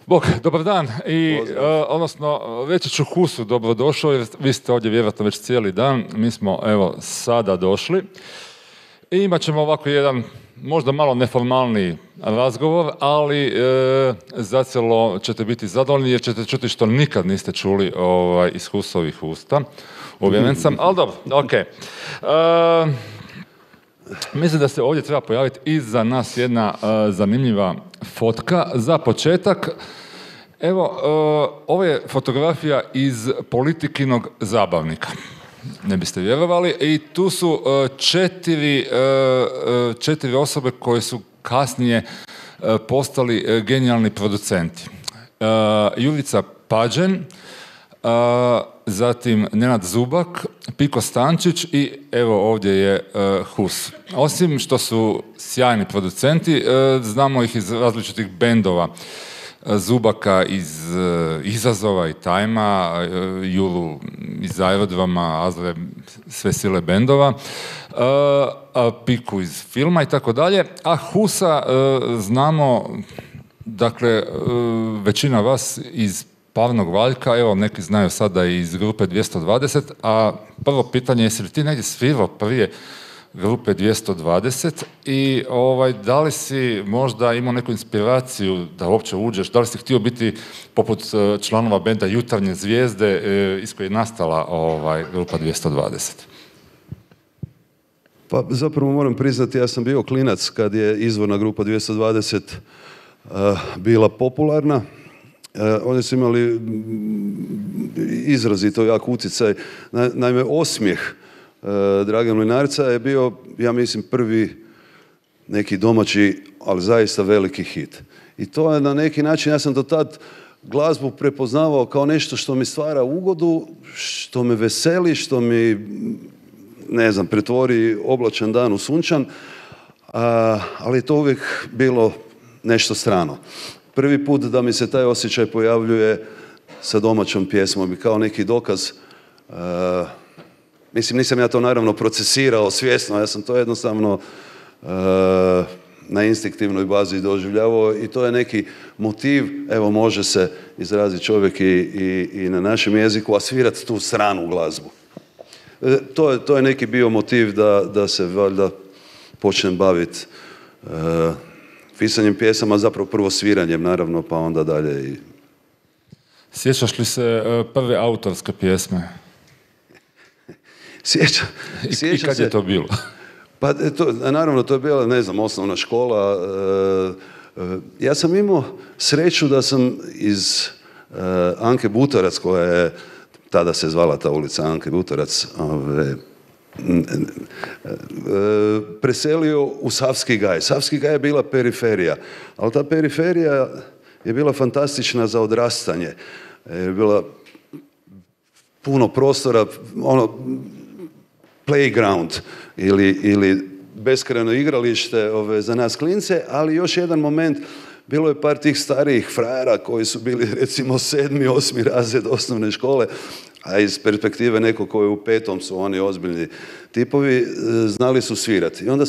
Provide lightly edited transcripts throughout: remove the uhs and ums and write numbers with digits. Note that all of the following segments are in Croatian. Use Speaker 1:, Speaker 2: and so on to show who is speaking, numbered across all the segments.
Speaker 1: Bog, dobar dan i odnosno reći ću Husu dobrodošao jer vi ste ovdje vjerojatno već cijeli dan, mi smo evo sada došli i imat ćemo ovako jedan možda malo neformalni razgovor, ali zacijelo ćete biti zadovoljni jer ćete čuti što nikad niste čuli iz Husovih usta, uvjeren sam, ali dobro, ok. Mislim da se ovdje treba pojaviti i za nas jedna zanimljiva fotka. Za početak, evo, ovo je fotografija iz Politikinog zabavnika. Ne biste vjerovali. I tu su četiri osobe koje su kasnije postali genijalni producenti. Jurica Pađen, zatim Nenad Zubak, Piko Stančić i evo ovdje je Hus. Osim što su sjajni producenti, znamo ih iz različitih bendova. Zubaka iz Izazova i Tajma, Julu iz Aerodroma, Azre, sve sile bendova, Piku iz filma i tako dalje. A Husa znamo, dakle, većina vas iz Parnog Valjka, evo neki znaju sada iz grupe 220, a prvo pitanje je jesi li ti negdje svirao prije grupe 220 i da li si možda imao neku inspiraciju da uopće uđeš, da li si htio biti poput članova benda Jutarnje zvijezde iz koje je nastala grupa 220?
Speaker 2: Pa zapravo moram priznati, ja sam bio klinac kad je izvorna grupa 220 bila popularna. Oni su imali izrazito jak utjecaj. Naime, Osmijeh Drage Mlinarca je bio, ja mislim, prvi neki domaći, ali zaista veliki hit. I to je na neki način, ja sam do tad glazbu prepoznavao kao nešto što mi stvara ugodu, što me veseli, što mi, ne znam, pretvori oblačan dan u sunčan, ali je to uvijek bilo nešto strano. Prvi put da mi se taj osjećaj pojavljuje sa domaćom pjesmom i kao neki dokaz. Mislim, nisam ja to naravno procesirao svjesno, ja sam to jednostavno na instinktivnoj bazi doživljavao i to je neki motiv, evo može se izraziti čovjek i na našem jeziku, a svirati tu stranu glazbu. To je neki bio motiv da se valjda počnem baviti pisanjem pjesama, zapravo prvo sviranjem naravno, pa onda dalje.
Speaker 1: Sjećaš li se prve autorske pjesme?
Speaker 2: Sjećam
Speaker 1: I kad je to bilo?
Speaker 2: Pa naravno to je bila, ne znam, osnovna škola. Ja sam imao sreću da sam iz Anke Butorac, koja je, tada se zvala ta ulica Anke Butorac, preselio u Savski Gaj. Savski Gaj je bila periferija, ali ta periferija je bila fantastična za odrastanje. Je bila puno prostora, playground ili beskrajno igralište za nas klince, ali još jedan moment, bilo je par tih starijih frajera koji su bili recimo 7. 8. razred osnovne škole, a iz perspektive nekog koji je u 5. su oni ozbiljni tipovi, znali su svirati. I onda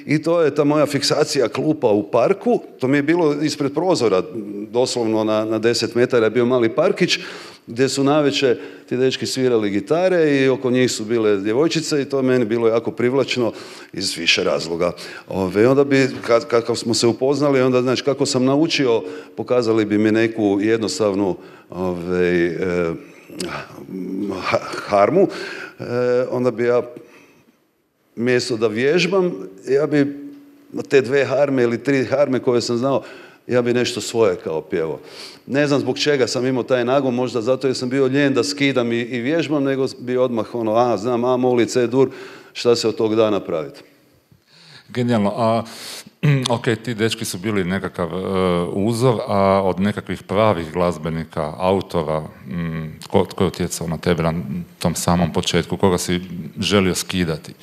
Speaker 2: i to je ta moja fiksacija klupa u parku, to mi je bilo ispred prozora, doslovno na 10 metara je bio mali parkić, gdje su navečer ti dečki svirali gitare i oko njih su bile djevojčice i to meni bilo jako privlačno iz više razloga. Onda bi, kako smo se upoznali, onda znači kako sam naučio, pokazali bi mi neku jednostavnu harmu, onda bi ja mjesto da vježbam, ja bi te 2 harme ili 3 harme koje sam znao, ja bi nešto svoje kao pjevao. Ne znam zbog čega sam imao taj nagon, možda zato jer sam bio ljen da skidam i vježbam, nego bi odmah znam A, moli, C, dur, šta se od tog da napraviti.
Speaker 1: Genijalno. Ok, ti dečki su bili nekakav uzor, a od nekakvih pravih glazbenika, autora, tko je utjecao na tebe na tom samom početku, koga si želio skidati?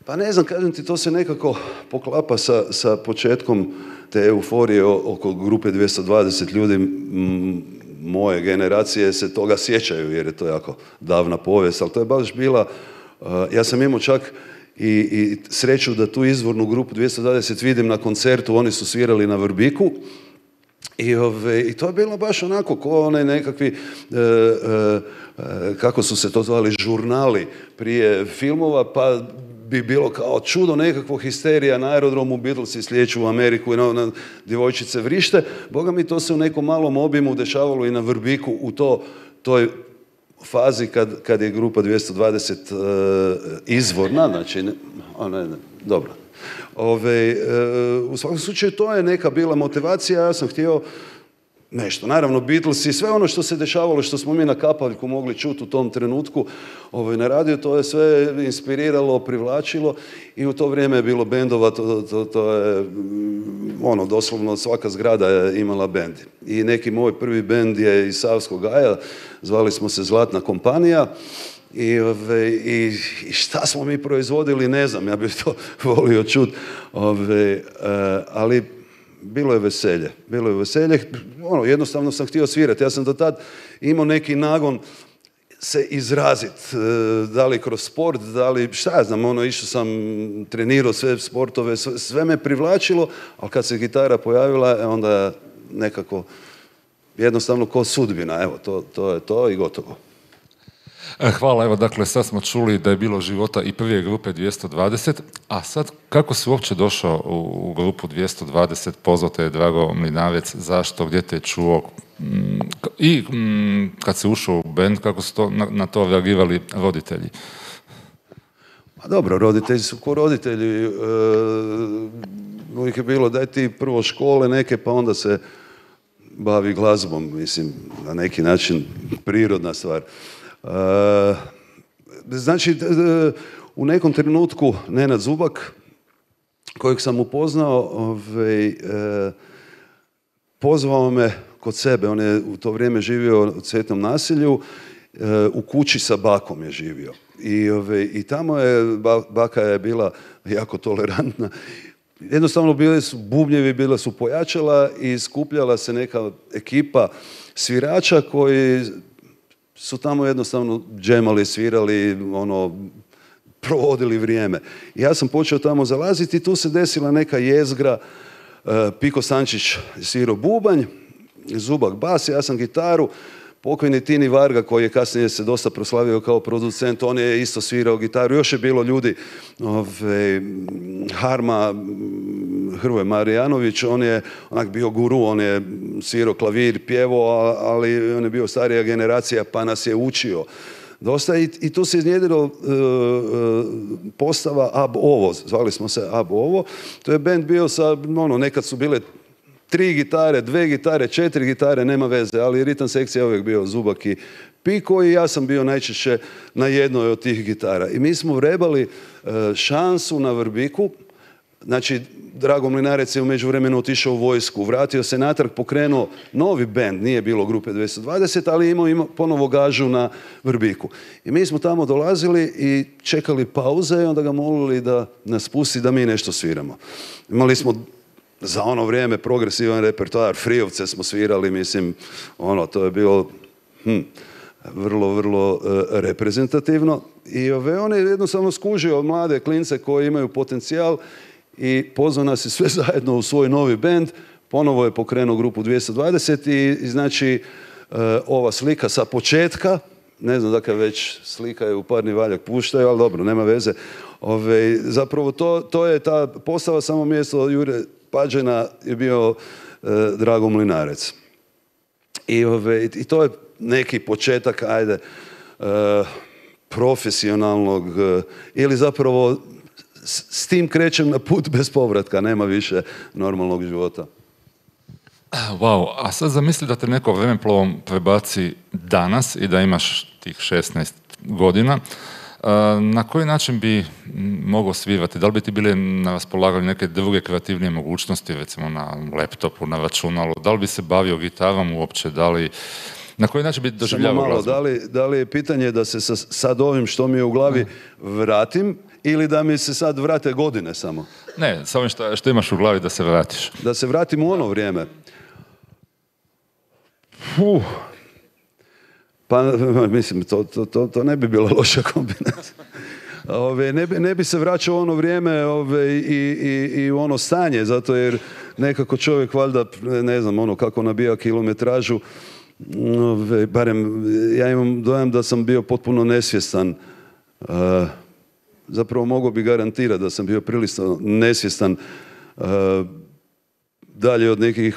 Speaker 2: Pa ne znam, kažem ti, to se nekako poklapa sa početkom te euforije oko grupe 220 ljudi. Moje generacije se toga sjećaju jer je to jako davna povijest, ali to je baš bila, ja sam imao čak i sreću da tu izvornu grupu 220 vidim na koncertu, oni su svirali na Vrbiku I to je bilo baš onako ko onaj nekakvi, kako su se to zvali, žurnali prije filmova, pa bi bilo kao čudo nekakvo, histerija na aerodromu, Beatlesi slijeću u Ameriku i na djevojčice vrište. Boga mi, to se u nekom malom obimu dešavalo i na Vrbiku u toj fazi kad je grupa 220 izvorna, znači, dobro. U svakom slučaju to je neka bila motivacija, ja sam htio nešto. Naravno, Beatles i sve ono što se dešavalo, što smo mi na kapaljku mogli čuti u tom trenutku na radiju, to je sve inspiriralo, privlačilo i u to vrijeme je bilo bendova, to je doslovno svaka zgrada je imala bend. I neki moj prvi bend je iz Savskog Gaja, zvali smo se Zlatna kompanija. I šta smo mi proizvodili, ne znam, ja bih to volio čuti, ali bilo je veselje. Jednostavno sam htio svirati. Ja sam do tad imao neki nagon se izraziti, da li kroz sport, da li, šta ja znam, išao sam, trenirao sve sportove, sve me privlačilo, ali kad se gitara pojavila, onda nekako jednostavno ko sudbina, evo, to je to i gotovo.
Speaker 1: Hvala, evo dakle sad smo čuli da je bilo života i prije grupe 220, a sad kako si uopće došao u grupu 220, pozvao te je Drago Mlinarec, zašto, gdje te je čuo i kad si ušao u band, kako su na to reagirali roditelji?
Speaker 2: Pa dobro, roditelji su ko roditelji, uvijek je bilo daj ti prvo škole neke pa onda se bavi glazbom, mislim, na neki način prirodna stvar. Znači, u nekom trenutku Nenad Zubak, kojeg sam upoznao, pozvao me kod sebe. On je u to vrijeme živio u Cvjetnom naselju, u kući sa bakom je živio. I tamo je, baka je bila jako tolerantna. Jednostavno bili su bubnjevi, bila su pojačala i skupljala se neka ekipa svirača koji su tamo jednostavno džemali, svirali, provodili vrijeme. Ja sam počeo tamo zalaziti i tu se desila neka jezgra. Piko Sančić svirao bubanj, Zubak bas, ja sam gitaru. Pokojni Tini Varga, koji je kasnije se dosta proslavio kao producent, on je isto svirao gitaru. Još je bilo ljudi, Harma, Hrvoje Marijanović, on je onak bio guru, on je svirao klavir, pjevao, ali on je bio starija generacija pa nas je učio dosta i tu se iznjedilo postava Ab Ovo, zvali smo se Ab Ovo. To je band bio sa, nekad su bile 3 gitare, 2 gitare, 4 gitare, nema veze, ali ritam sekcija je uvijek bio Zubak i Piko i ja sam bio najčešće na jednoj od tih gitara. I mi smo vrebali šansu na Vrbiku. Znači, Drago Mlinarec je u međuvremenu otišao u vojsku, vratio se natrag, pokrenuo novi bend, nije bilo grupe 220, ali imao ponovo gažu na Vrbiku. I mi smo tamo dolazili i čekali pauze i onda ga molili da nas pusti da mi nešto sviramo. Imali smo za ono vrijeme progresivan repertoar, Friovce smo svirali, mislim, to je bilo vrlo, vrlo reprezentativno. I on je jednostavno skužio mlade klince koji imaju potencijal i pozvao nas sve zajedno u svoj novi bend. Ponovo je pokrenuo grupu 220 i znači ova slika sa početka, ne znam dakle već slika je u Parni valjak puštaju, ali dobro, nema veze. Zapravo to je ta postava, samo mjesto Jure Pađena je bio Drago Mlinarec. I to je neki početak, profesionalnog, ili zapravo s tim krećem na put bez povratka, nema više normalnog života.
Speaker 1: Wow, a sad zamisli da te neko vremeplovom prebaci danas i da imaš tih 16 godina. Na koji način bi mogao svirati? Da li bi ti bile na raspolaganju neke druge kreativnije mogućnosti, recimo na laptopu, na računalu? Da li bi se bavio gitarom uopće? Na koji način bi doživljavao glazbu?
Speaker 2: Da li je pitanje da se sad ovim što mi je u glavi vratim ili da mi se sad vrate godine samo?
Speaker 1: Ne, samo što imaš u glavi da se vratiš.
Speaker 2: Da se vratim u ono vrijeme. Pa, mislim, to ne bi bila loša kombinacija. Ne bi se vraćao u ono vrijeme i u ono stanje, zato jer nekako čovjek valjda, ne znam, ono kako nabija kilometražu, barem ja imam dojam da sam bio potpuno nesvjestan. Zapravo mogao bi garantirati da sam bio prilično nesvjestan dalje od nekih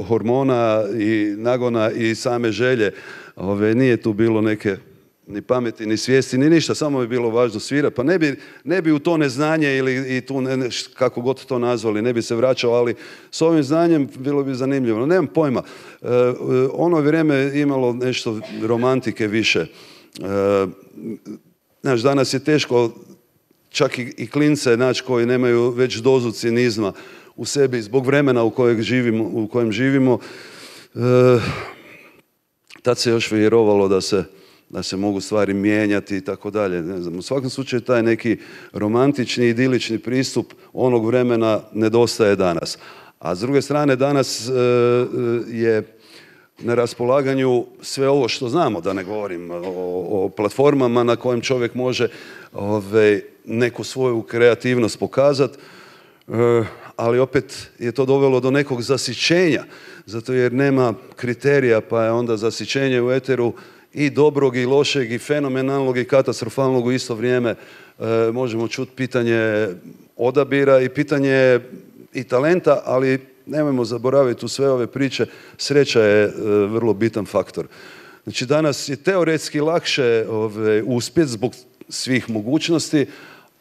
Speaker 2: hormona i nagona i same želje. Nije tu bilo neke ni pameti, ni svijesti, ni ništa, samo je bilo važno svirati. Pa ne bi u to neznanje ili i tu, kako god to nazvali, ne bi se vraćao, ali s ovim znanjem bilo bi zanimljivo. Nemam pojma. Ono vrijeme imalo nešto romantike više. Znaš, danas je teško čak i klince naći koji nemaju već dozu cinizma u sebi zbog vremena u kojem živimo. Tad se još vjerovalo da se mogu stvari mijenjati i tako dalje. Ne znam, u svakom slučaju taj neki romantični, idilični pristup onog vremena nedostaje danas. A s druge strane danas je na raspolaganju sve ovo što znamo, da ne govorim o platformama na kojem čovjek može neku svoju kreativnost pokazati, ali opet je to dovelo do nekog zasićenja, zato jer nema kriterija, pa je onda zasićenje u eteru i dobrog i lošeg i fenomenalnog i katastrofalnog u isto vrijeme. Možemo čuti pitanje odabira i pitanje i talenta, ali nemojmo zaboraviti u sve ove priče, sreća je vrlo bitan faktor. Znači danas je teoretski lakše uspjeti zbog svih mogućnosti,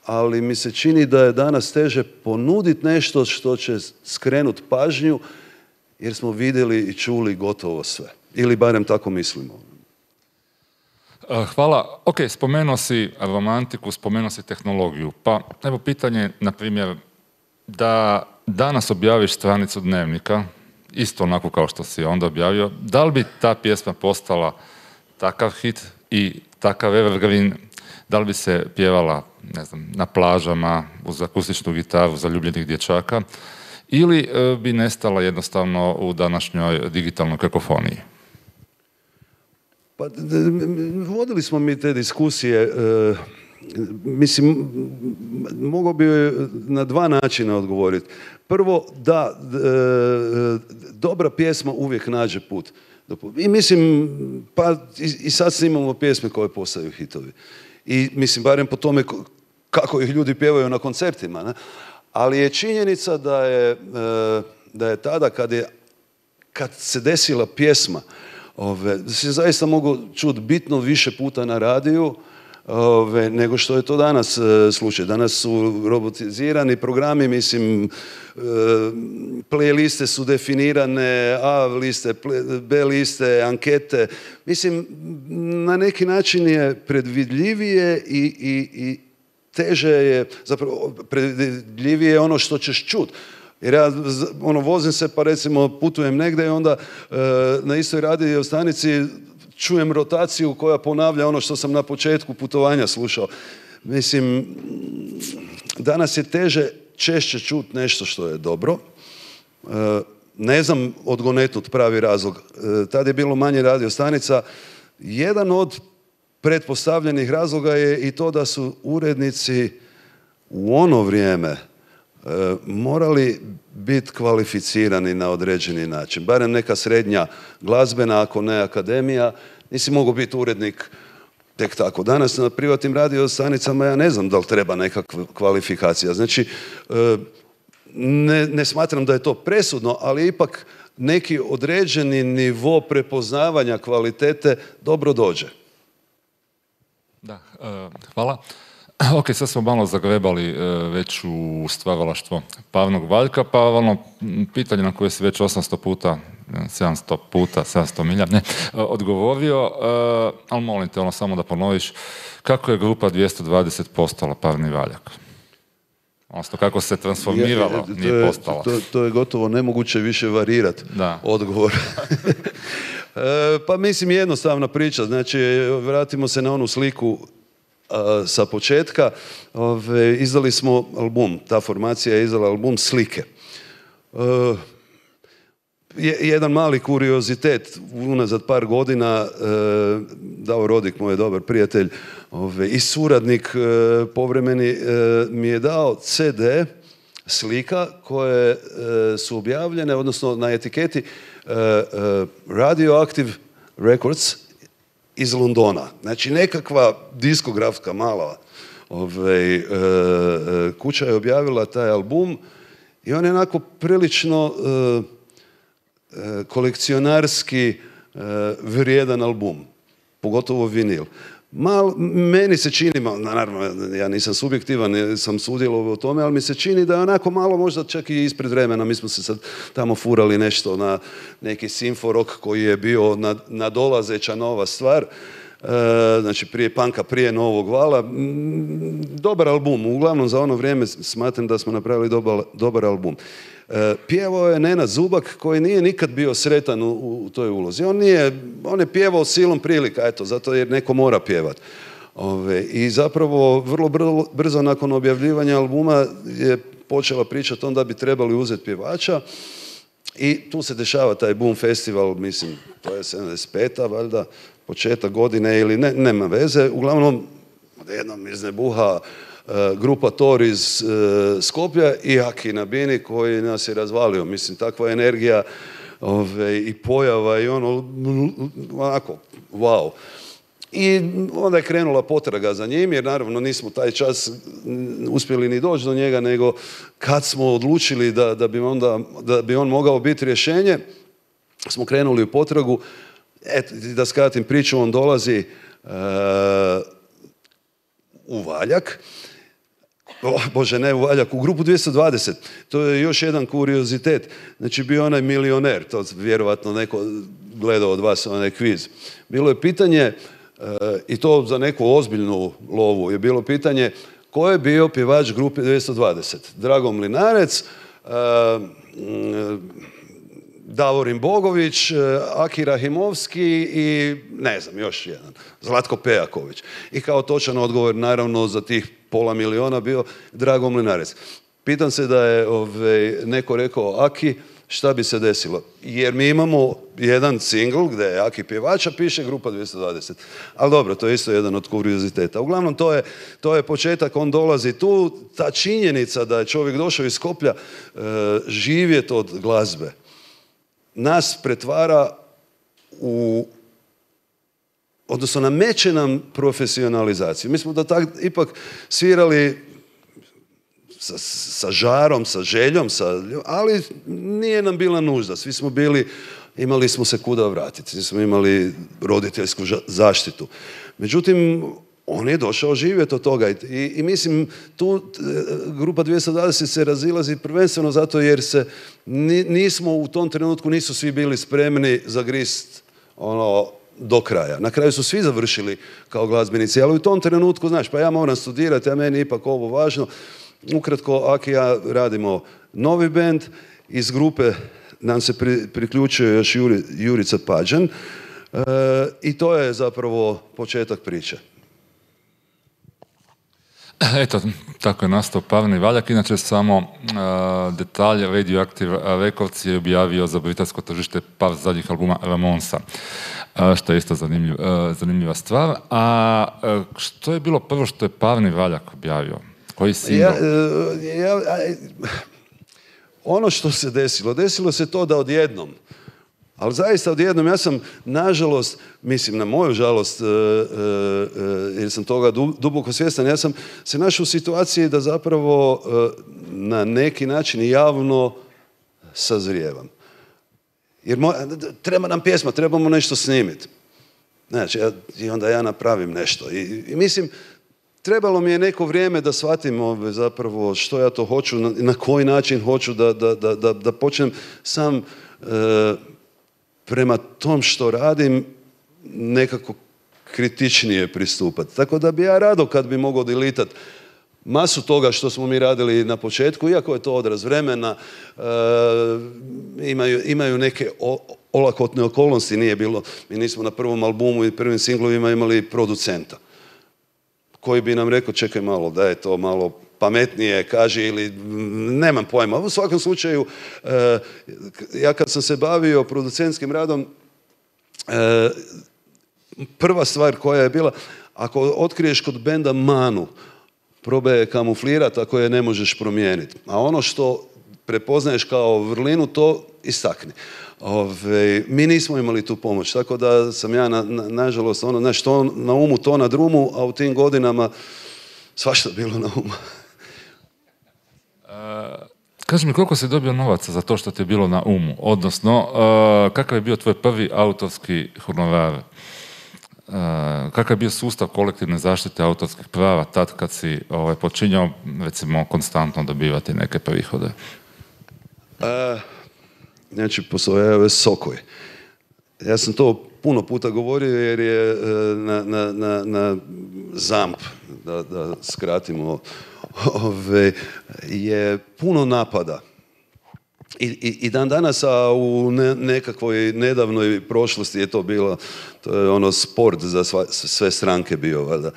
Speaker 2: ali mi se čini da je danas teže ponuditi nešto što će skrenuti pažnju, jer smo vidjeli i čuli gotovo sve. Ili barem tako mislimo.
Speaker 1: Hvala. Ok, spomenuo si romantiku, spomenuo si tehnologiju. Pa evo pitanje, na primjer, da danas objaviš stranicu Dnevnika, isto onako kao što si onda objavio, da li bi ta pjesma postala takav hit i takav evergreen, da li bi se pjevala, ne znam, na plažama, uz akustičnu gitaru zaljubljenih dječaka, ili bi nestala jednostavno u današnjoj digitalnoj kakofoniji?
Speaker 2: Pa, vodili smo mi te diskusije, mislim, mogao bi na dva načina odgovoriti. Prvo, da, dobra pjesma uvijek nađe put. I mislim, pa i sad imamo pjesme koje postaju hitovi. I mislim, barem po tome kako ih ljudi pjevaju na koncertima. Ne? Ali je činjenica da je tada kad se desila pjesma, da se zaista mogu čuti bitno više puta na radiju nego što je to danas slučaj. Danas su robotizirani programi, mislim, playliste su definirane, A liste, B liste, ankete. Mislim, na neki način je predvidljivije i teže je, zapravo predvidljivije je ono što ćeš čuti. Jer ja vozim se pa recimo putujem negdje i onda na istoj radio stanici čujem rotaciju koja ponavlja ono što sam na početku putovanja slušao. Mislim, danas je češće čuti nešto što je dobro. Ne znam odgonetnut pravi razlog. Tad je bilo manje radio stanica. Jedan od pretpostavljenih razloga je i to da su urednici u ono vrijeme morali biti kvalificirani na određeni način. Barem neka srednja glazbena, ako ne akademija. Nisi mogao biti urednik tek tako. Danas na privatnim radiostanicama ja ne znam da li treba neka kvalifikacija. Znači, ne smatram da je to presudno, ali ipak neki određeni nivo prepoznavanja kvalitete dobro dođe.
Speaker 1: Da, hvala. Ok, sad smo malo zagrebali već u stvaralaštvo Pavnog Valjka, pa pitanje na koje si već 800 puta, 700 milja, odgovorio, ali molim te samo da ponoviš, kako je grupa 220 postala Pavni Valjak? Odnosno, kako se transformirala, nije postala.
Speaker 2: To je gotovo nemoguće više varirati odgovor. Pa mislim, jednostavna priča. Znači, vratimo se na onu sliku sa početka. Izdali smo album. Ta formacija je izdala album Slike. jedan mali kuriozitet, unazad par godina Davor Rodik, moj dobar prijatelj i suradnik povremeni, mi je dao CD slika koje su objavljene, odnosno na etiketi Radioactive Records iz Londona. Znači nekakva diskografska mala kuća je objavila taj album i on je onako prilično kolekcionarski vrijedan album, pogotovo vinil. Meni se čini, naravno ja nisam subjektivan, sam sudjelovao u tome, ali mi se čini da je onako malo možda čak i ispred vremena. Mi smo se sad tamo furali nešto na neki simforok koji je bio nadolazeća nova stvar, znači prije punka, prije novog vala. Dobar album, uglavnom za ono vrijeme smatram da smo napravili dobar album. Pjevao je Nenad Zubak koji nije nikad bio sretan u toj ulozi. On je pjevao silom prilika, eto, zato jer neko mora pjevati. I zapravo vrlo brzo nakon objavljivanja albuma je počela pričati onda bi trebali uzeti pjevača i tu se dešava taj Boom Festival, mislim, to je 75. valjda, početak godine ili nema veze. Uglavnom, jednom iznebuha grupa Tor iz Skopja i Aki Nabini koji nas je razvalio. Mislim, takva energija i pojava i onako, wow. I onda je krenula potraga za njim, jer naravno nismo taj čas uspjeli ni doći do njega, nego kad smo odlučili da bi on mogao biti rješenje, smo krenuli u potragu. Eto, da skratim priču, on dolazi u Valjak, Bože, ne u Valjak, u grupu 220. To je još jedan kuriozitet. Znači, bio onaj milioner, to vjerovatno neko gledao od vas, onaj kviz. Bilo je pitanje, i to za neku ozbiljnu lovu, je bilo pitanje ko je bio pjevač grupe 220. Drago Mlinarec, Davorin Bogović, Aki Rahimovski i ne znam, još jedan, Zlatko Pejaković. I kao točan odgovor, naravno, za tih $500,000 bio Drago Mlinarec. Pitam se da je neko rekao Aki, šta bi se desilo? Jer mi imamo jedan singl gdje je Aki pjevača, piše grupa 220. Ali dobro, to je isto jedan od kurioziteta. Uglavnom, to je početak, on dolazi tu. Ta činjenica da je čovjek došao iz Skoplja živjeti od glazbe nas pretvara odnosno nameće nam profesionalizaciju. Mi smo ipak svirali sa žarom, sa željom, ali nije nam bila nužda. Svi smo imali smo se kuda vratiti, svi smo imali roditeljsku zaštitu. Međutim, on je došao živjeti od toga i mislim, tu grupa 220 se razilazi prvenstveno zato jer nismo u tom trenutku, nisu svi bili spremni zagrist do kraja. Na kraju su svi završili kao glazbenici, ali u tom trenutku, znaš, pa ja moram studirati, a meni ipak ovo važno. Ukratko, Aki i ja radimo novi bend, iz grupe nam se priključuje još Jurica Pađan i to je zapravo početak priče.
Speaker 1: Eto, tako je nastao Pavni Valjak. Inače, samo detalj, Radioactive Records je objavio za britansko tržište par zadnjih albuma Ramonsa, što je isto zanimljiva stvar. A što je bilo prvo što je Pavni Valjak objavio? Koji singl?
Speaker 2: Ono što se desilo se to da odjednom, ali zaista odjednom, ja sam, nažalost, mislim na moju žalost, jer sam toga duboko svjestan, ja sam se našao u situaciji da zapravo na neki način javno sazrijevam. Jer treba nam pjesma, trebamo nešto snimiti. Znači, i onda ja napravim nešto. I mislim, trebalo mi je neko vrijeme da shvatim zapravo što ja to hoću, na koji način hoću da počnem sam prema tom što radim nekako kritičnije pristupati. Tako da bi ja rado kad bi mogao delitati masu toga što smo mi radili na početku, iako je to odraz vremena, imaju neke olakotne okolnosti, nije bilo, mi nismo na prvom albumu i prvim singlovima imali producenta koji bi nam rekao čekaj malo, da je to malo pametnije kaži ili nemam pojma. U svakom slučaju, ja kad sam se bavio producentskim radom, prva stvar koja je bila, ako otkriješ kod benda manu, probaj je kamuflirati ako je ne možeš promijeniti. A ono što prepoznaješ kao vrlinu, to istakni. Mi nismo imali tu pomoć, tako da sam ja, nažalost, što na umu, to na drumu, a u tim godinama svašta bilo na umu.
Speaker 1: Kaži mi, koliko si dobio novaca za to što ti je bilo na umu? Odnosno, kakav je bio tvoj prvi autorski honorar? Kakav je bio sustav kolektivne zaštite autorskih prava tad kad si počinjao, recimo, konstantno dobivati neke prihode?
Speaker 2: Znači, postoje Sokoj. Ja sam to puno puta govorio jer je na ZAMP, da skratimo, je puno napada. I dan danas, a u nekakvoj nedavnoj prošlosti je to bilo, to je sport za sve stranke bio, valjda.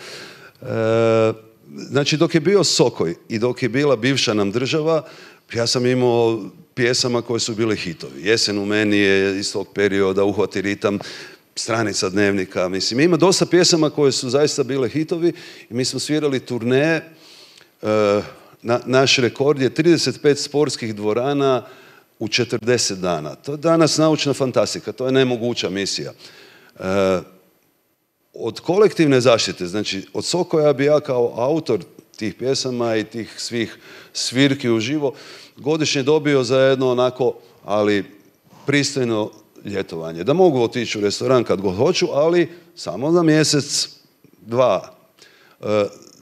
Speaker 2: Znači, dok je bio Sokoj i dok je bila bivša nam država, ja sam imao pjesama koje su bile hitovi. Jesen u meni je iz tog perioda, Uhvati ritam, Stranica dnevnika. Mislim, ima dosta pjesama koje su zaista bile hitovi i mi smo svirali turneje. Naš rekord je 35 sportskih dvorana u 40 dana. To je danas naučna fantastika, to je nemoguća misija. Od kolektivne zaštite, znači od Sokoja bi ja kao autor tih pjesama i tih svih svirki uživo godišnje dobio za jedno onako, ali pristojno ljetovanje. Da mogu otići u restoran kad god hoću, ali samo za mjesec, dva.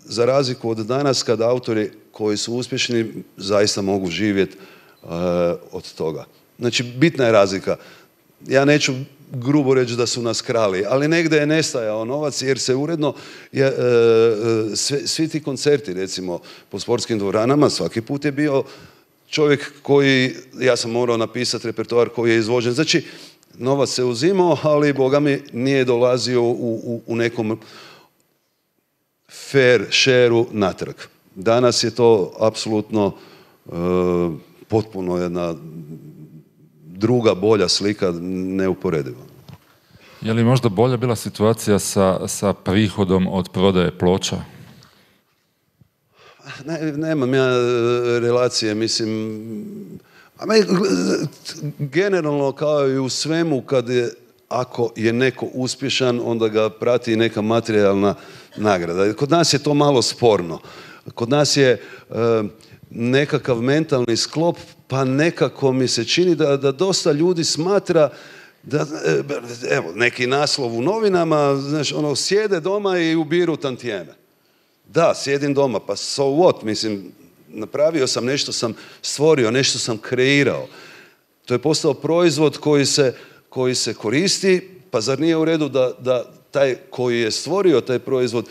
Speaker 2: Za razliku od danas kad autori koji su uspješni zaista mogu živjeti od toga. Znači, bitna je razlika. Ja neću grubo reći da su nas krali, ali negdje je nestajao novac jer se uredno svi ti koncerti, recimo po sportskim dvoranama, svaki put je bio čovjek koji, ja sam morao napisati repertoar koji je izvođen. Znači, novac se uzimao, ali boga mi nije dolazio u nekom fair share-u natrag. Danas je to apsolutno potpuno jedna druga, bolja slika, neuporediva.
Speaker 1: Je li možda bolja bila situacija sa prihodom od prodaje ploča?
Speaker 2: Nemam ja relacije, mislim, generalno kao i u svemu ako je neko uspješan, onda ga prati neka materijalna nagrada. Kod nas je to malo sporno. Kod nas je nekakav mentalni sklop, pa nekako mi se čini da dosta ljudi smatra da, evo, neki naslov u novinama, znaš, sjede doma i ubiru tantijeme. Da, sjedim doma, pa so what, mislim, napravio sam nešto, sam stvorio, nešto sam kreirao. To je postao proizvod koji se koristi, pa zar nije u redu da taj koji je stvorio taj proizvod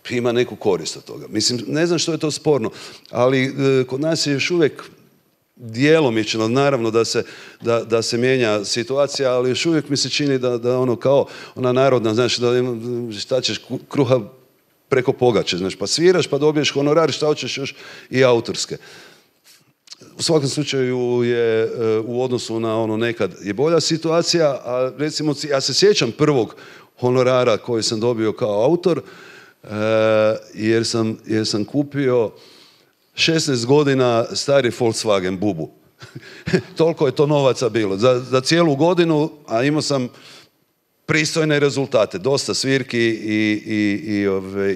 Speaker 2: ima neku korist od toga. Mislim, ne znam što je to sporno, ali kod nas je još uvijek djelomično, naravno da se mijenja situacija, ali još uvijek mi se čini da ono kao ona narodna, znači da šta ćeš kruha preko pogače, znači pa sviraš pa dobiješ honorar, šta hoćeš još i autorske. U svakom slučaju je u odnosu na ono nekad je bolja situacija, a recimo ja se sjećam prvog honorara koji sam dobio kao autor, jer sam kupio 16 godina stari Volkswagen bubu. Toliko je to novaca bilo. Za cijelu godinu, a imao sam pristojne rezultate. Dosta svirki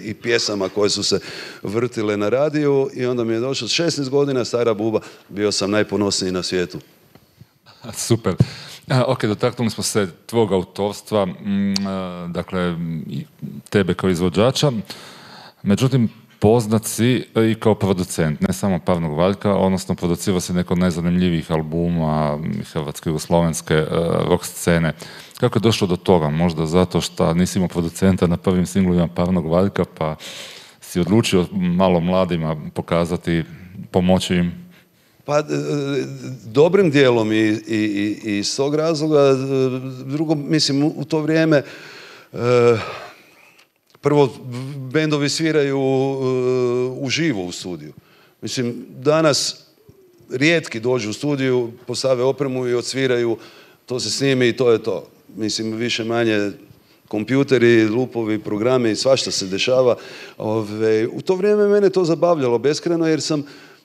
Speaker 2: i pjesama koje su se vrtile na radiju i onda mi je došlo 16 godina stara buba. Bio sam najponosniji na svijetu.
Speaker 1: Super. Ok, dotaknuli smo se tvog autorstva, dakle, tebe kao izvođača. Međutim, poznat si i kao producent, ne samo Pavnog Valjka, odnosno producirao si neko od najzanimljivijih albuma hrvatske i slovenske rock scene. Kako je došlo do toga? Možda zato što nisi imao producenta na prvim singlovima Pavnog Valjka, pa si odlučio malo mladima pokazati, pomoći im?
Speaker 2: Pa, dobrim dijelom i iz tog razloga. Drugo, mislim, u to vrijeme prvo bendovi sviraju uživo u studiju. Mislim, danas rijetki dođu u studiju, postave opremu i odsviraju, to se snimi i to je to. Mislim, više manje kompjuteri, lupovi, programi i svašta se dešava. U to vrijeme mene to zabavljalo beskrajno jer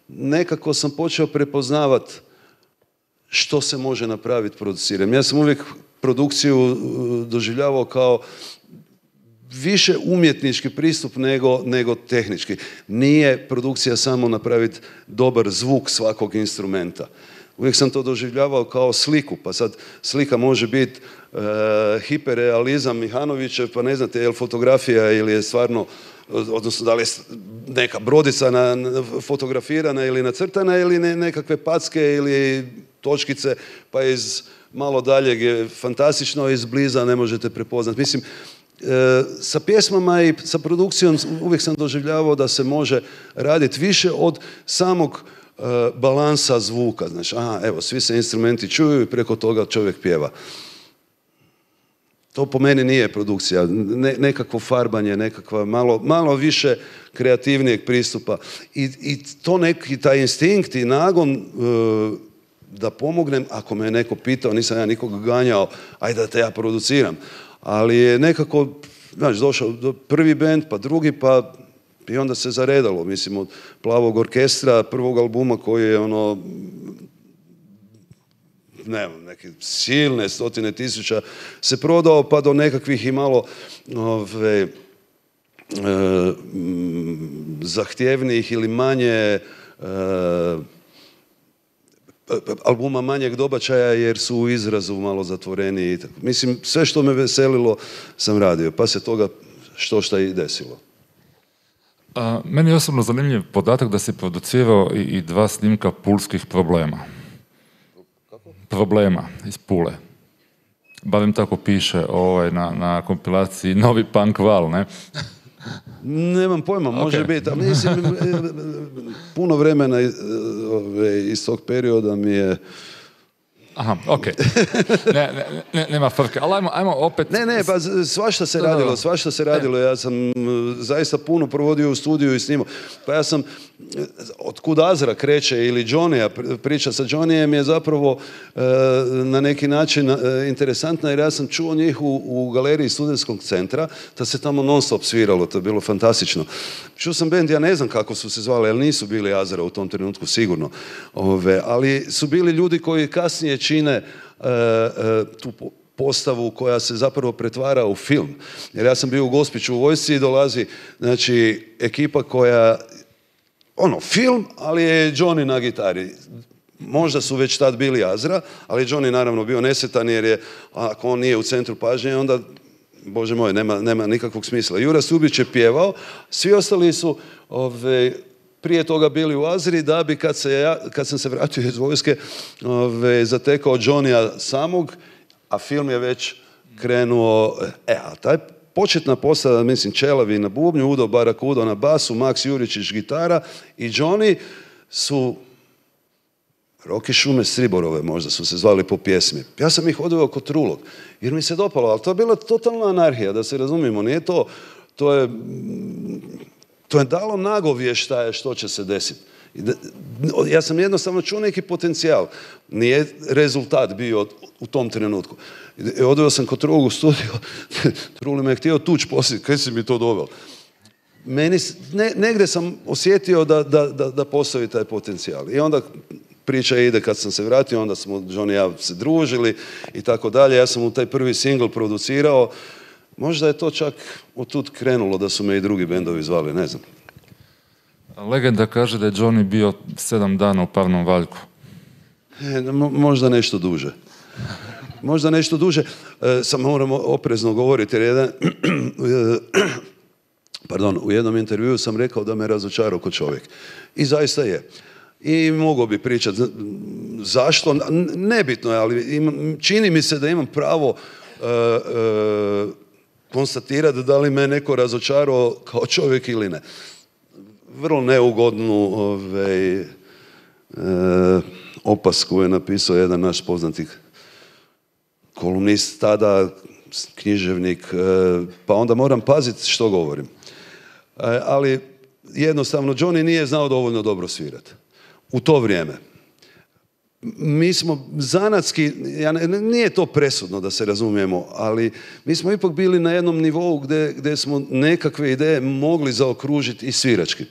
Speaker 2: nekako sam počeo prepoznavati što se može napraviti produciranjem. Ja sam uvijek produkciju doživljavao kao više umjetnički pristup nego tehnički. Nije produkcija samo napraviti dobar zvuk svakog instrumenta. Uvijek sam to doživljavao kao sliku, pa sad slika može biti hiperrealizam Mihanovićev, pa ne znate je li fotografija ili je stvarno, odnosno da li je neka brodica fotografirana ili nacrtana ili nekakve packe ili točkice, pa iz malo daljeg je fantastično, izbliza ne možete prepoznati. Mislim, sa pjesmama i sa produkcijom uvijek sam doživljavao da se može raditi više od samog balansa zvuka. Znači, evo, svi se instrumenti čuju i preko toga čovjek pjeva. To po meni nije produkcija. Nekakvo farbanje, nekakva malo više kreativnijeg pristupa. I to neki taj instinkt i nagon da pomognem, ako me je neko pitao, nisam ja nikog ganjao, ajde da te ja produciram. Ali je nekako, znači, došao do prvi bend, pa drugi, pa i onda se zaredalo. Mislim, od Plavog orkestra, prvog albuma koji je neke silne stotine tisuća se prodao, pa do nekakvih i malo zahtjevnijih ili manje albuma manjeg dobačaja jer su u izrazu malo zatvoreniji. Mislim, sve što me veselilo sam radio, pa se toga što i desilo.
Speaker 1: Meni je osobno zanimljiv podatak da si producirao i 2 snimka pulskih problema.
Speaker 2: Kako?
Speaker 1: Problema iz Pule. Barem tako piše na kompilaciji Novi punk val, ne?
Speaker 2: Nemam pojma, može biti. Ali mislim, puno vremena iz tog perioda mi je...
Speaker 1: Aha, okej. Nema frke, ali ajmo opet...
Speaker 2: Ne, pa svašta se radilo. Ja sam zaista puno provodio u studiju i snimao. Pa ja sam, otkud Azra kreće ili Johnny, priča sa Johnnyjem je zapravo na neki način interesantna jer ja sam čuo njih u galeriji Studentskog centra, da se tamo non stop sviralo, to je bilo fantastično. Čuo sam bend, ja ne znam kako su se zvali, ali nisu bili Azra u tom trenutku sigurno. Ali su bili ljudi koji kasnije čine tu postavu koja se zapravo pretvara u film. Jer ja sam bio u Gospiću u vojsci i dolazi, znači, ekipa koja, film, ali je Johnny na gitari. Možda su već tad bili Azra, ali Johnny naravno bio nesretan jer je, ako on nije u centru pažnje, onda, Bože moj, nema nikakvog smisla. Jura Subić je pjevao, svi ostali su prije toga bili u Azri, da bi kad sam se vratio iz vojske zatekao Johnnya samog, a film je već krenuo, a taj početna postava, mislim, Čelavi na bubnju, Udo Barakudo na basu, Maks Juričić gitara i Johnny su Roki Šume Sriborove, možda su se zvali po pjesmi. Ja sam ih odveo kod Trulog, jer mi se dopalo, ali to je bila totalna anarhija, da se razumijemo, nije to je dalo nagovještaje što će se desiti. Ja sam jednostavno čuo neki potencijal. Nije rezultat bio u tom trenutku. Odveo sam kod Trulog u studiju, Truli me je htio tući poslije, kaj si mi to doveo? Negdje sam osjetio da postoji taj potencijal. I onda priča ide kad sam se vratio, onda smo Johnny i ja se družili i tako dalje. Ja sam u taj prvi singl producirao. Možda je to čak otud krenulo da su me i drugi bendovi zvali, ne znam.
Speaker 1: Legenda kaže da je Johnny bio 7 dana u Parnom Valjku.
Speaker 2: Možda nešto duže. Možda nešto duže. Sam moramo oprezno govoriti jer u jednom intervjuu sam rekao da me razočarao kao čovjek. I zaista je. I mogao bi pričati zašto. Nebitno je, ali čini mi se da imam pravo konstatirati da li me neko razočarao kao čovjek ili ne. Vrlo neugodnu opasku je napisao jedan naš poznati kolumnist tada, književnik, pa onda moram paziti što govorim. Ali jednostavno Johnny nije znao dovoljno dobro svirati u to vrijeme. Mi smo zanatski, nije to presudno da se razumijemo, ali mi smo ipak bili na jednom nivou gdje smo nekakve ideje mogli zaokružiti i svirački.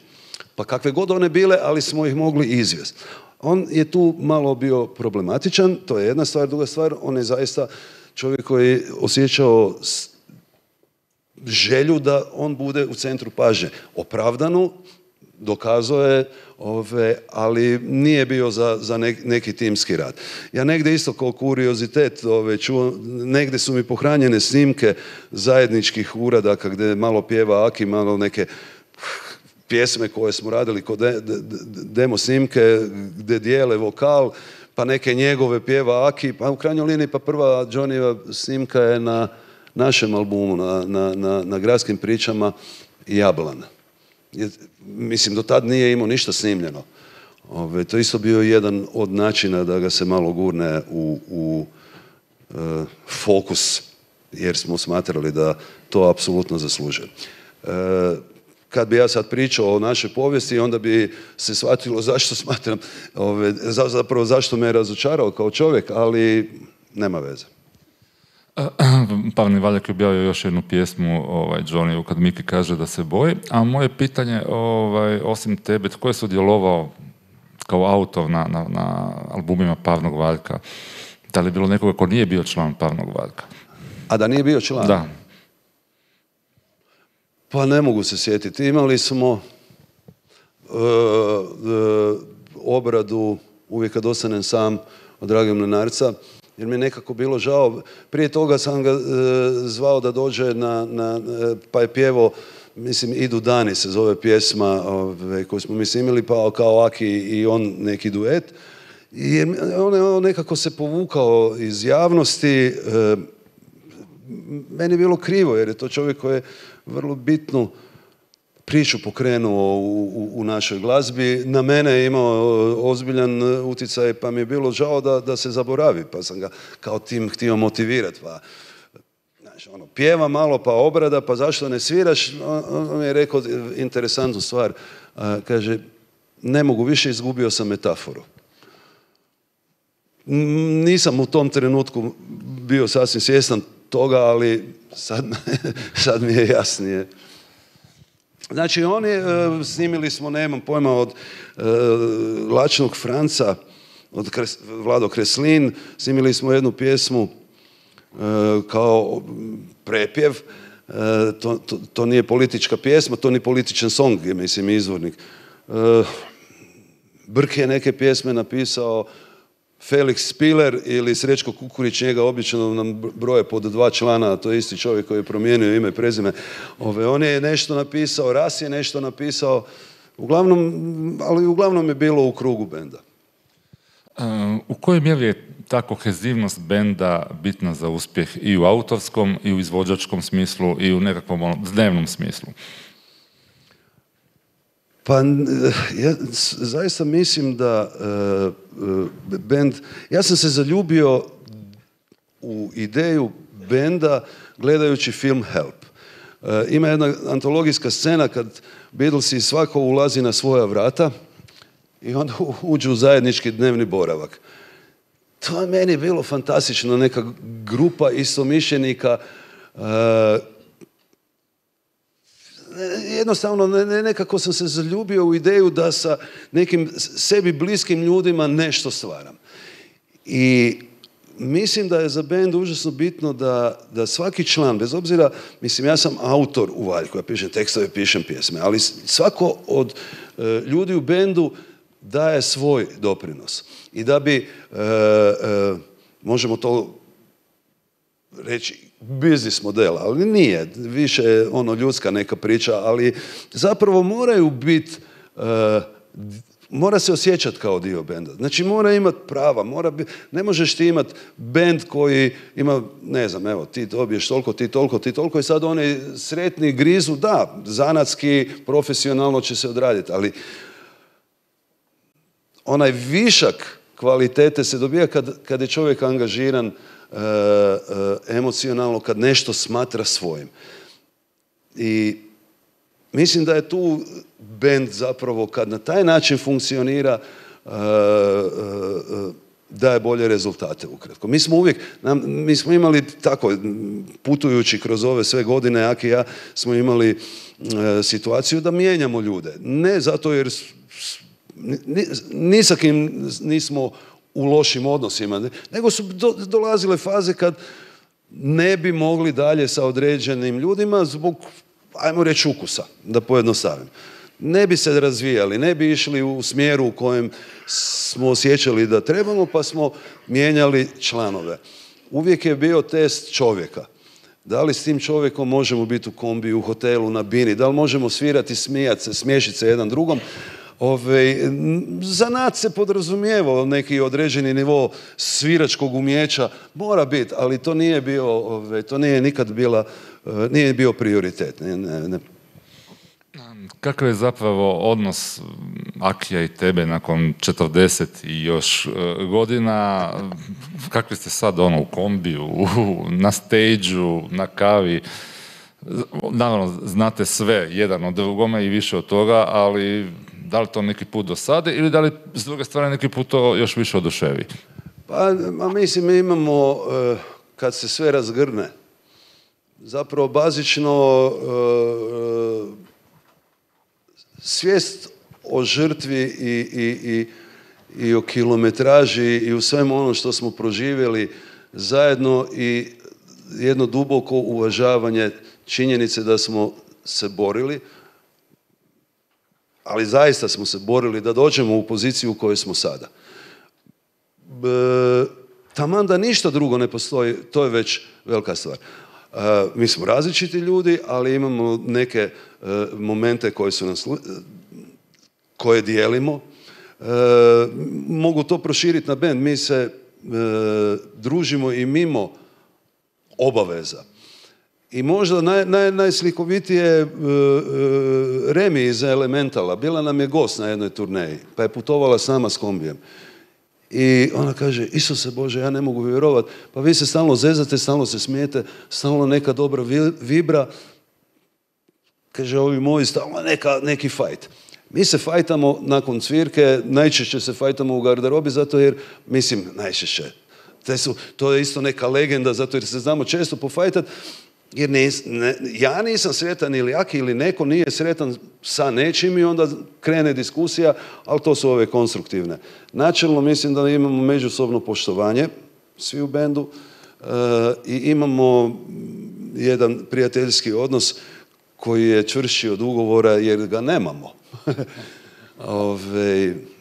Speaker 2: Pa kakve god one bile, ali smo ih mogli izvesti. On je tu malo bio problematičan, to je jedna stvar. Druga stvar, on je zaista čovjek koji je osjećao želju da on bude u centru pažnje. Opravdanu, dokazao je, ali nije bio za neki timski rad. Ja negdje isto kao kuriozitet čuo, negdje su mi pohranjene snimke zajedničkih uradaka gdje malo pjeva Aki, malo neke pjesme koje smo radili kod demo snimke gdje dijele vokal, pa neke njegove pjeva Aki, pa u krajnjoj liniji pa prva Johnnyjeva snimka je na našem albumu, na Gradskim pričama Jablana. Mislim, do tad nije imao ništa snimljeno. To isto bio jedan od načina da ga se malo gurne u fokus, jer smo smatrali da to apsolutno zaslužuje. Kad bi ja sad pričao o našoj povijesti, onda bi se shvatilo zašto smatram, zapravo zašto me je razočarao kao čovjek, ali nema veze.
Speaker 1: Pavni Valjak je objavio još jednu pjesmu Johnny, kad Miki kaže da se boji, a moje pitanje, osim tebe, tko je sudjelovao kao autor na albumima Pavnog Valjka? Da li je bilo nekoga ko nije bio član Pavnog Valjka?
Speaker 2: A da nije bio član?
Speaker 1: Da.
Speaker 2: Pa ne mogu se sjetiti. Imali smo obradu Uvijek kad ostanem sam od Drage Mlinarca, jer mi je nekako bilo žao. Prije toga sam ga zvao da dođe pa je pjevao, mislim, Idu dani se zove pjesma koju smo imali, pa kao Aki i on neki duet. I on nekako se povukao iz javnosti. Meni je bilo krivo, jer je to čovjek koji je vrlo bitnu priču pokrenuo u našoj glazbi. Na mene je imao ozbiljan utjecaj, pa mi je bilo žao da se zaboravi, pa sam ga kao tim htio motivirati. Pa, znači, pjeva malo, pa obrada, pa zašto ne sviraš? On mi je rekao interesantnu stvar. Kaže, ne mogu više, izgubio sam metaforu. Nisam u tom trenutku bio sasvim svjestan toga, ali sad mi je jasnije. Znači, snimili smo, nemam pojma, od Lačnog Franca, od Vlado Kreslin, snimili smo jednu pjesmu kao prepjev. To nije politička pjesma, to ni političan song, je, mislim, izvornik. Brk je neke pjesme napisao, Felix Spiller ili Srećko Kukurić, njega obično nam broje pod 2 člana, to je isti čovjek koji je promijenio ime i prezime. On je nešto napisao, Ras je nešto napisao, ali uglavnom je bilo u krugu benda.
Speaker 1: U kojoj mjeri je ta kohezivnost benda bitna za uspjeh i u autorskom, i u izvođačkom smislu, i u nekakvom dnevnom smislu?
Speaker 2: Pa ja zaista mislim da bend... Ja sam se zaljubio u ideju benda gledajući film Help. Ima jedna antologijska scena kad Beatlesi svako ulazi na svoja vrata i onda uđu u zajednički dnevni boravak. To je meni bilo fantastično, neka grupa istomišljenika, jednostavno nekako sam se zaljubio u ideju da sa nekim sebi bliskim ljudima nešto stvaram. I mislim da je za bend užasno bitno da svaki član, bez obzira, mislim, ja sam autor u Valjku, ja pišem tekstove, pišem pjesme, ali svako od ljudi u bendu daje svoj doprinos. I da bi, možemo to reći, biznis model, ali nije, više ljudska neka priča, ali zapravo moraju biti, mora se osjećati kao dio benda. Znači mora imati prava, ne možeš ti imati bend koji ima, ne znam, evo, ti dobiješ toliko, ti toliko, ti toliko i sad oni sretni grizu, da, zanatski, profesionalno će se odraditi, ali onaj višak kvalitete se dobija kad je čovjek angažiran emocionalno, kad nešto smatra svojim. I mislim da je tu bend zapravo, kad na taj način funkcionira, daje bolje rezultate ukratko. Mi smo imali tako, putujući kroz ove sve godine, Aki i ja, smo imali situaciju da mijenjamo ljude. Ne zato jer ni sa kim nismo u lošim odnosima, nego su dolazile faze kad ne bi mogli dalje sa određenim ljudima zbog, ajmo reći, ukusa, da pojednostavim. Ne bi se razvijali, ne bi išli u smjeru u kojem smo osjećali da trebamo, pa smo mijenjali članove. Uvijek je bio test čovjeka. Da li s tim čovjekom možemo biti u kombi, u hotelu, na bini, da li možemo svirati, smijati se, smiješiti se jedan drugom. Za nas se podrazumijevao neki određeni nivo sviračkog umjeća, mora biti, ali to nije bio, to nije nikad nije bio prioritet. Ne.
Speaker 1: Kakav je zapravo odnos Akija i tebe nakon 40 i još godina? Kakvi ste sad u kombiju, na stage-u, na kavi? Naravno, znate sve jedan od drugome i više od toga, ali da li to neki put dosade ili da li s druge strane neki put to još više oduševi?
Speaker 2: Pa, mislim, mi imamo, kad se sve razgrne, zapravo bazično svijest o žrtvi i o kilometraži i u svemu ono što smo proživjeli zajedno i jedno duboko uvažavanje činjenice da smo se borili, ali zaista smo se borili da dođemo u poziciju u kojoj smo sada. Taman da ništa drugo ne postoji, to je već velika stvar. Mi smo različiti ljudi, ali imamo neke momente koje dijelimo. Mogu to proširiti na bend. Mi se družimo i mimo obaveza. I možda najslikovitije Remi iz Elementala. Bila nam je gost na jednoj turneji, pa je putovala s nama s kombijem. I ona kaže, Isuse Bože, ja ne mogu vjerovati, pa vi se stalno zezate, stalno se smijete, stalno neka dobra vibra. Kaže, ovi moji, stalno neki fajt. Mi se fajtamo nakon cvirke, najčešće se fajtamo u garderobi, zato jer, mislim, najčešće. To je isto neka legenda, zato jer se znamo često pofajtati, jer ja nisam sretan ili Aki ili neko nije sretan sa nečim i onda krene diskusija, ali to su ove konstruktivne. Načelno mislim da imamo međusobno poštovanje, svi u bendu, i imamo jedan prijateljski odnos koji je čvršći od ugovora jer ga nemamo.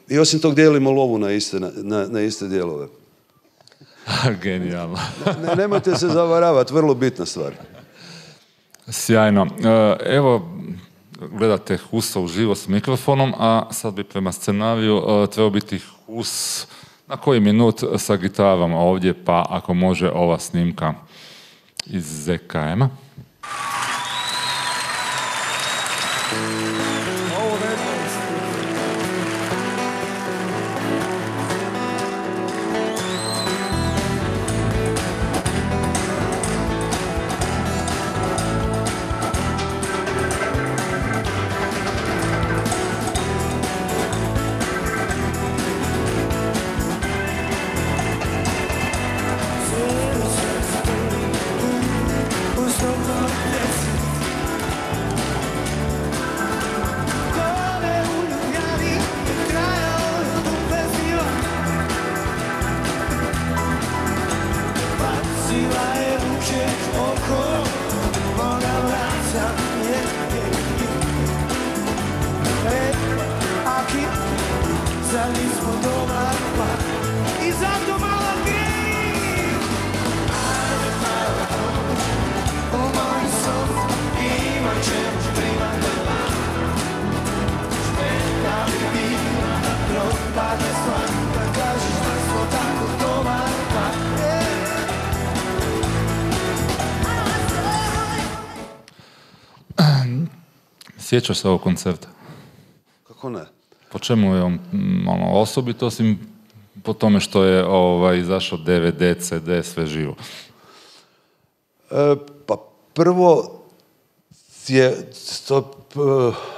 Speaker 2: I osim tog dijelimo lovu na iste dijelove.
Speaker 1: Genijalno.
Speaker 2: Nemojte se zavaravati, vrlo bitna stvar.
Speaker 1: Sjajno. Evo, gledate Husa uživo s mikrofonom, a sad bi prema scenariju trebao biti Hus na koji minut sa gitarom ovdje, pa ako može ova snimka iz ZKM-a. Sjećaš se ovog koncerta?
Speaker 2: Kako ne?
Speaker 1: Po čemu je on osobit, osim po tome što je izašao DVD, CD, sve živo?
Speaker 2: Pa prvo je to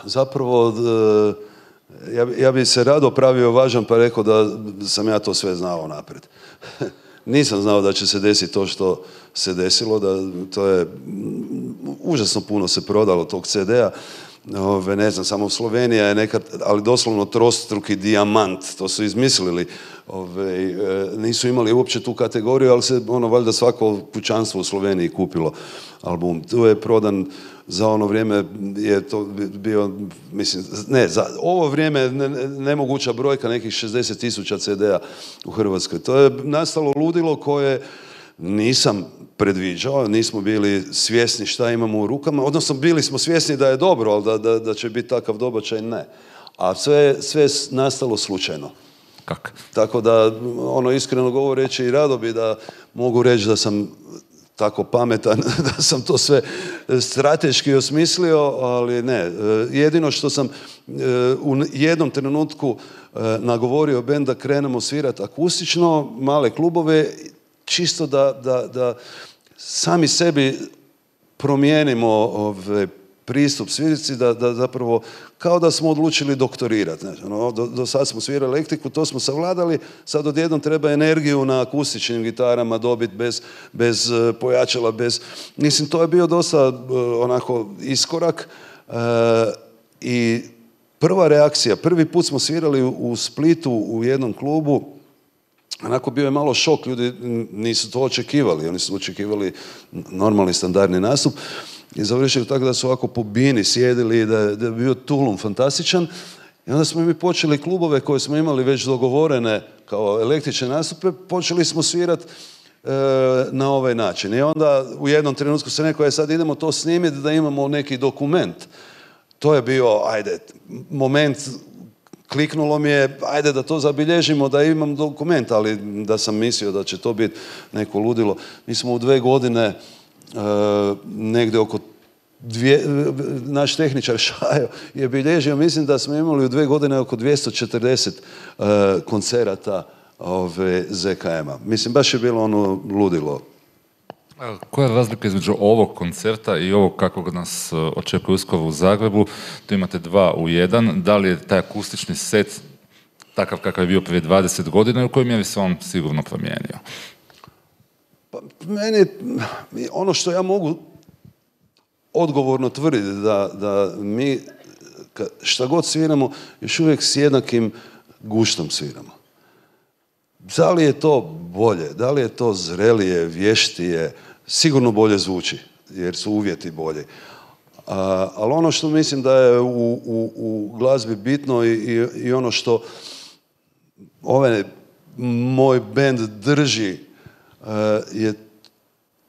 Speaker 2: zapravo, ja bi se rado pravio važan pa rekao da sam ja to sve znao naprijed. Nisam znao da će se desiti to što se desilo, da to je užasno puno se prodalo tog CD-a. Ne znam, samo Slovenija je nekad, ali doslovno trostruki dijamant, to su izmislili. Nisu imali uopće tu kategoriju, ali se valjda svako kućanstvo u Sloveniji kupilo album. Tu je prodan za ono vrijeme, je to bio, mislim, ne, za ovo vrijeme nemoguća brojka, nekih 60,000 CD-a u Hrvatskoj. To je nastalo ludilo koje nisam predviđao, nismo bili svjesni šta imamo u rukama, odnosno bili smo svjesni da je dobro, ali da će biti takav dobačaj, ne. A sve je nastalo slučajno.
Speaker 1: Kako?
Speaker 2: Tako da, iskreno govoreći, i rado bi da mogu reći da sam tako pametan, da sam to sve strateški osmislio, ali ne. Jedino što sam u jednom trenutku nagovorio bend da krenemo svirati akustično, male klubove, čisto da sami sebi promijenimo pristup svirci, da zapravo kao da smo odlučili doktorirati. Do sad smo svirali elektriku, to smo savladali, sad odjednom treba energiju na akustičnim gitarama dobiti bez pojačala, Mislim, to je bio dosta onako iskorak i prva reakcija, prvi put smo svirali u Splitu u jednom klubu, onako bio je malo šok, ljudi nisu to očekivali, oni su očekivali normalni standardni nastup i završili tako da su ovako po bini sjedili i da je bio tulum fantastičan i onda smo mi počeli klubove koje smo imali već dogovorene kao električne nastupe, počeli smo svirati na ovaj način i onda u jednom trenutku se neko sad idemo to snimiti da imamo neki dokument. To je bio, moment, kliknulo mi je, da to zabilježimo, da imam dokument, ali da sam mislio da će to biti neko ludilo. Mi smo u 2 godine negdje oko naš tehničar Šajo je bilježio, mislim da smo imali u 2 godine oko 240 koncerata ZKM-a. Mislim, baš je bilo ludilo.
Speaker 1: Koja je razlika između ovog koncerta i ovog kakvog nas očekuje uskoro u Zagrebu? Tu imate 2 u 1. Da li je taj akustični set takav kakav je bio prije 20 godina i u kojoj mjeri se on sigurno promijenio?
Speaker 2: Pa, meni, ono što ja mogu odgovorno tvrditi da mi šta god sviramo, još uvijek s jednakim guštom sviramo. Da li je to bolje, da li je to zrelije, vještije, sigurno bolje zvuči, jer su uvjeti bolji. Ali ono što mislim da je u glazbi bitno i ono što ovaj moj bend drži je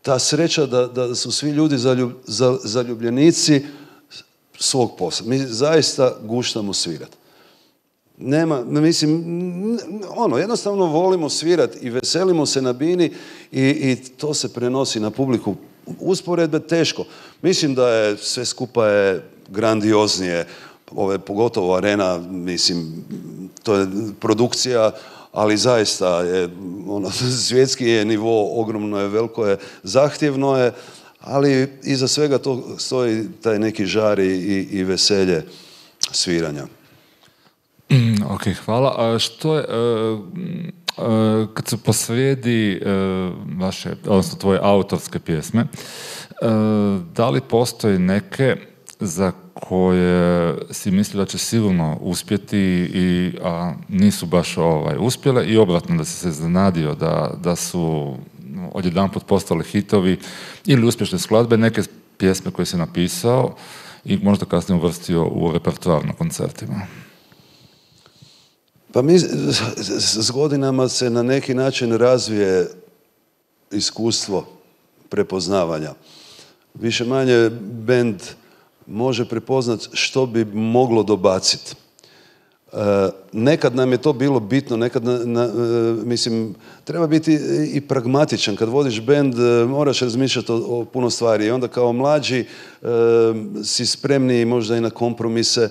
Speaker 2: ta sreća da su svi ljudi zaljubljenici svog posla. Mi zaista guštamo svirati. Jednostavno volimo svirati i veselimo se na bini i to se prenosi na publiku. Usporedbe teško. Mislim da je sve skupa je grandioznije, pogotovo arena, mislim, to je produkcija, ali zaista je, svjetski je nivo, ogromno je, veliko je, zahtjevno je, ali iza svega to stoji taj neki žar i veselje sviranja.
Speaker 1: Ok, hvala. A što je, kad su posrijedi vaše, odnosno tvoje autorske pjesme, da li postoji neke za koje si misli da će sigurno uspjeti, a nisu baš uspjele, i obratno da si se iznenadio da su odjedanput postali hitovi ili uspješne skladbe, neke pjesme koje si napisao i možda kasnije uvrstio u repertoar na koncertima?
Speaker 2: Pa mi s godinama se na neki način razvije iskustvo prepoznavanja. Više manje bend može prepoznati što bi moglo dobaciti. Nekad nam je to bilo bitno, nekad, mislim, treba biti i pragmatičan. Kad vodiš bend, moraš razmišljati o puno stvari. I onda kao mlađi si spremniji možda i na kompromise,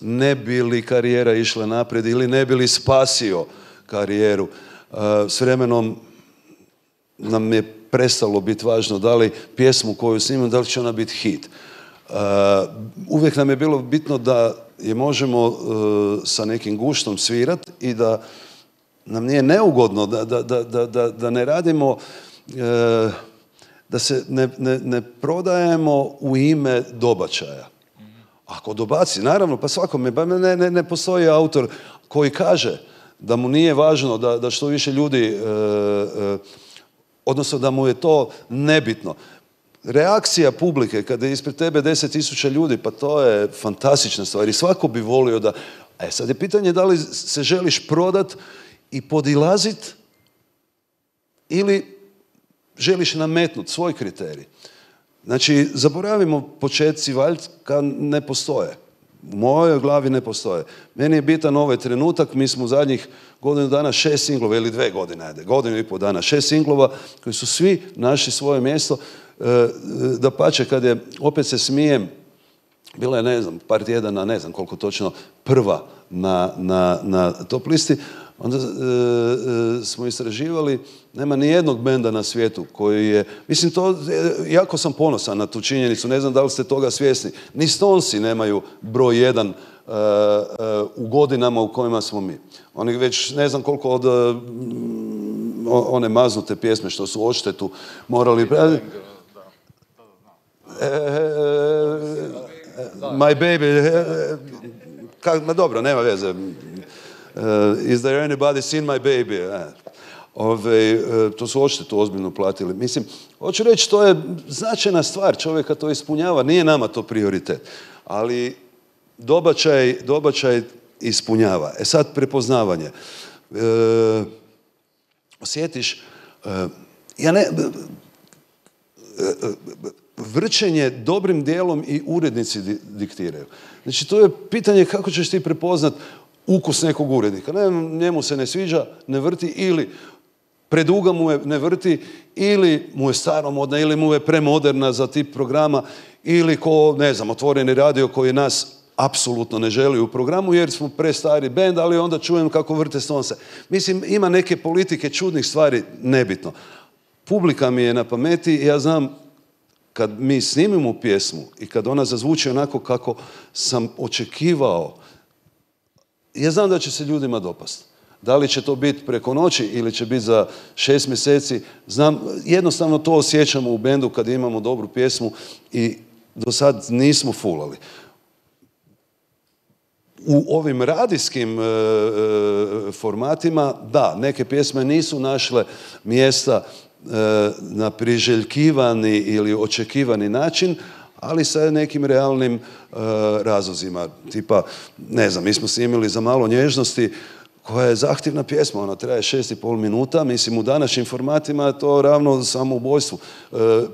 Speaker 2: ne bi li karijera išla naprijed ili ne bi li spasio karijeru. S vremenom nam je prestalo biti važno da li pjesmu koju snimamo, da li će ona biti hit. Uvijek nam je bilo bitno da je možemo sa nekim guštom svirati i da nam nije neugodno, da ne radimo, da se ne prodajemo u ime dobačaja. Ako dobaci, naravno, pa svakome, ne postoji autor koji kaže da mu nije važno da što više ljudi, odnosno da mu je to nebitno. Reakcija publike kada je ispred tebe 10.000 ljudi, pa to je fantastična stvar i svako bi volio da... sad je pitanje da li se želiš prodat i podilazit ili želiš nametnuti svoj kriterij. Znači, zaboravimo početci valjka ne postoje. U mojoj glavi ne postoje. Meni je bitan ovaj trenutak, mi smo u zadnjih godinu dana 6 singlova, ili 2 godine, godinu i pol dana, 6 singlova koji su svi našli svoje mjesto. Dapače, kad je, opet se smijem, bila je, ne znam, par tjedana, ne znam koliko točno, prva na top listi, onda smo istraživali, nema ni jednog benda na svijetu koji je, mislim, to, jako sam ponosan na tu činjenicu, ne znam da li ste toga svjesni, ni Stonesi nemaju broj 1 u godinama u kojima smo mi. Oni već ne znam koliko od one maznute pjesme što su odštetu morali... My baby, ma dobro, nema veze. Is there anybody seen my baby? To su odštetu ozbiljno platili. Mislim, hoću reći, to je značajna stvar, čovjeka to ispunjava, nije nama to prioritet. Ali dobačaj ispunjava. Sad prepoznavanje. Osjetiš, vrčenje dobrim dijelom i urednici diktiraju. Znači, to je pitanje kako ćeš ti prepoznat ukus nekog urednika. Njemu se ne sviđa, ne vrti, ili preduga mu je, ne vrti, ili mu je staromodna, ili mu je premoderna za tip programa, ili ko, ne znam, otvoreni radio koji nas apsolutno ne želi u programu jer smo prestari bend, ali onda čujem kako vrte Stonese. Mislim, ima neke politike čudnih stvari, nebitno. Publika mi je na pameti i ja znam kad mi snimimo pjesmu i kad ona zazvuči onako kako sam očekivao, ja znam da će se ljudima dopasti. Da li će to biti preko noći ili će biti za 6 mjeseci, znam, jednostavno to osjećamo u bendu kad imamo dobru pjesmu i do sad nismo fulali. U ovim radijskim formatima, da, neke pjesme nisu našle mjesta na priželjkivani ili očekivani način, ali sa nekim realnim razlozima. Tipa, ne znam, mi smo snimili Za malo nježnosti, koja je zahtjevna pjesma, ona traje 6,5 minuta, mislim u današnjim formatima je to ravno samoubojstvu.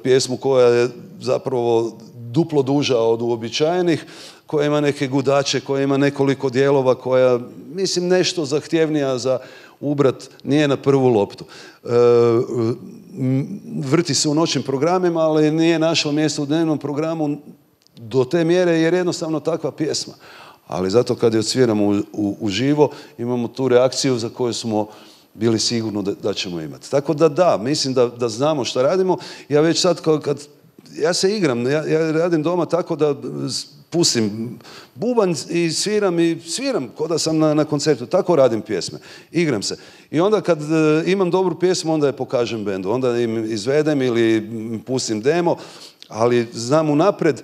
Speaker 2: Pjesmu koja je zapravo duplo duža od uobičajenih, koja ima neke gudače, koja ima nekoliko dijelova, koja, mislim, nešto zahtjevnija za ubrat, nije na prvu loptu. Vrti se u noćnim programima, ali nije našlo mjesto u dnevnom programu do te mjere jer je jednostavno takva pjesma. Ali zato kad je odsviramo uživo, imamo tu reakciju za koju smo bili sigurni da ćemo imati. Tako da, mislim da znamo šta radimo. Ja već sad kad ja se igram, ja radim doma tako da pustim bubanj i sviram kao da sam na koncertu. Tako radim pjesme. Igram se. I onda kad imam dobru pjesmu, onda je pokažem bendu. Onda im izvedem ili pustim demo, ali znam unapred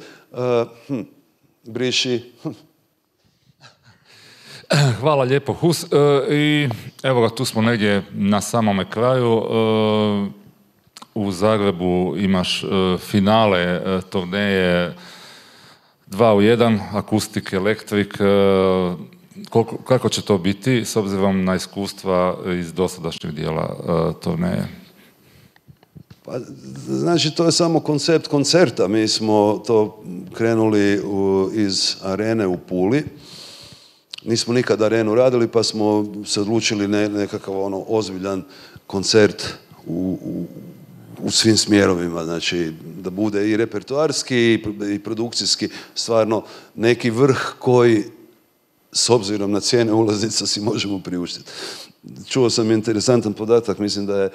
Speaker 2: briši.
Speaker 1: Hvala lijepo, Hus. I evo ga, tu smo negdje na samome kraju. U Zagrebu imaš finale turneje 2 u 1, akustik, elektrik. Kako će to biti s obzirom na iskustva iz dosadašnjeg dijela turneje?
Speaker 2: Pa, znači, to je samo koncept koncerta. Mi smo to krenuli iz arene u Puli. Nismo nikad arenu radili, pa smo se odlučili nekakav ozbiljan koncert u svim smjerovima. Znači, da bude i repertoarski i produkcijski stvarno neki vrh koji, s obzirom na cijene ulaznica, si možemo priuštiti. čuo sam interesantan podatak, mislim da je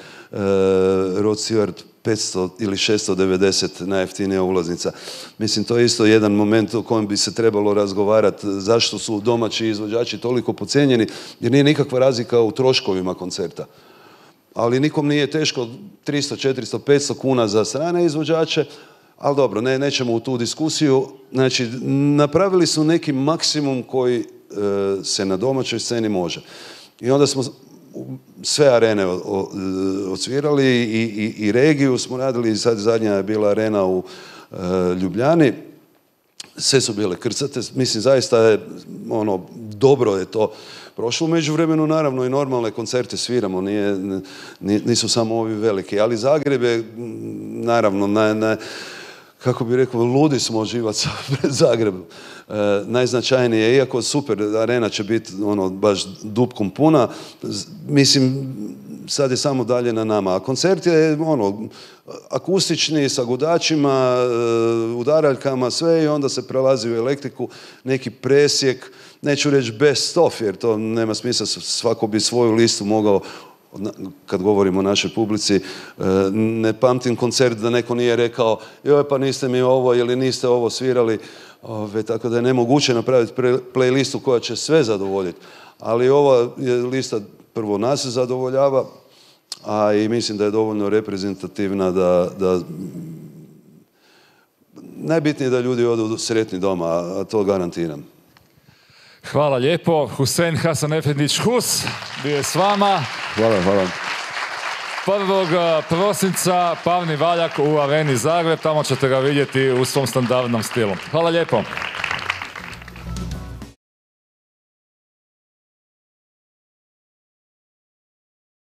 Speaker 2: Rod Stewart 500 ili 690 najjeftinija ulaznica. Mislim, to je isto jedan moment o kojem bi se trebalo razgovarati, zašto su domaći izvođači toliko podcijenjeni, jer nije nikakva razlika u troškovima koncerta. Ali nikom nije teško 300, 400, 500 kuna za strane izvođače, ali dobro, nećemo u tu diskusiju. Znači, napravili su neki maksimum koji se na domaćoj sceni može. I onda smo sve arene odsvirali i regiju smo radili, sad zadnja je bila arena u Ljubljani. Sve su bile krcate, mislim zaista je dobro je to prošlo. U međuvremenu naravno i normalne koncerte sviramo, nisu samo ovi veliki, ali Zagreb je naravno kako bi rekao, ludi smo živaca pred Zagrebom. Najznačajnije, iako super, arena će biti baš dupkom puna, mislim, sad je samo dalje na nama. A koncert je akustični, sa gudačima, udaraljkama, sve i onda se prelazi u elektriku, neki presjek, neću reći best of, jer to nema smisla, svako bi svoju listu mogao, kad govorimo o našoj publici, ne pamtim koncert da neko nije rekao joj pa niste mi ovo ili niste ovo svirali, tako da je nemoguće napraviti playlistu koja će sve zadovoljiti. Ali ova je lista prvo nas zadovoljava, a i mislim da je dovoljno reprezentativna da najbitnije je da ljudi odu sretni doma, a to garantiram.
Speaker 1: Hvala lijepo. Husein Hasanefendić Hus bio je s vama.
Speaker 2: Hvala.
Speaker 1: 1. prosinca Pavni valjak u Areni Zagreb, tamo ćete ga vidjeti u svom standardnom stilu. Hvala lijepo.